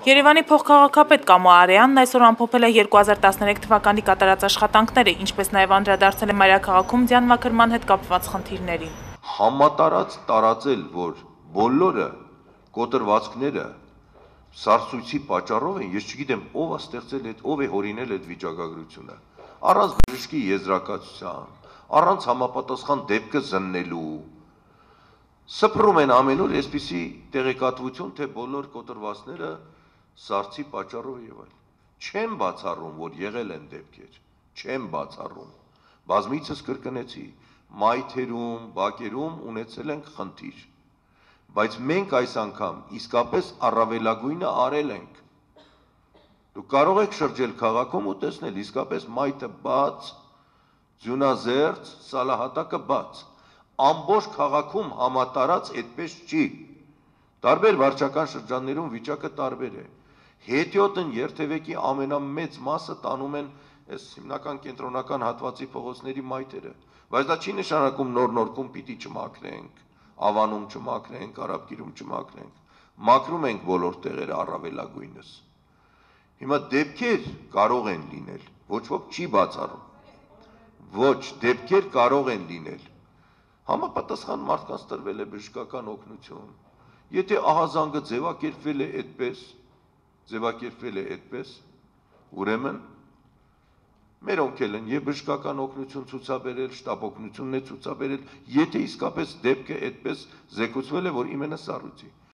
Երևանի փոխքաղաքապետ Կամո Արեյանն այսօր ամփոփել է 2013 թվականի կատարած աշխատանքները, ինչպես նաև անդրադարձել է մայրաքաղաքում ձյանմաքրման հետ կապված խնդիրներին։ Համատարած տարածել, որ բոլորը կոտրվածքները սարսույցի պատճառով են, ես չգիտեմ ով է ստեղծել այդ, ով է հորինել այդ վիճակագրությունը, առանց բժշկի եզրակացության, առանց համապատասխան դեպքը զննելու, սփռում են ամեն օր այսպիսի տեղեկատվություն, թե բոլոր կոտրվածքները սարսի պատճառով եւ այլ։ Չեմ բացառում, որ եղել են դեպքեր, չեմ բացառում, բազմիցս կրկնեցի, մայթերում, բակերում ունեցել ենք խնդիր, բայց մենք այս անգամ իսկապես առավելագույնը արել ենք։ Դուք կարող եք շրջել քաղաքում ու տեսնել իսկապես մայթը բաց, ձյունազերծ, սալահատակը բաց, ամբողջ քաղաքում համատարած այդպես չի, տարբեր վարչական շրջաններում վիճակը տարբեր է, հետիոտն երթևեկի ամենամեծ մասը տանում են այս հիմնական կենտրոնական հատվածի փողոցների մայթերը, բայց դա չի նշանակում նոր-նորքում պիտի չմաքրենք, Ավանում չմաքրենք, Արաբկիրում չմաքրենք, մաքրում ենք բոլոր տեղերը առավելագույնս։ Հիմա դեպքեր կարող են լինել, ոչ ոք չի բացառում, ոչ դեպքեր կարող են լինել, համապատասխան մարդկանց տրվել է բժշկական օգնություն, եթե ահազանգը ձևակերպվել է այդպես, ուրեմն մերոնք էլ են եւ բժշկական օգնություն ցուցաբերել, շտապ օգնությունն է ցուցաբերել, եթե իսկապես դեպքը այդպես զեկուցվել է, որ իմենը սառույցի։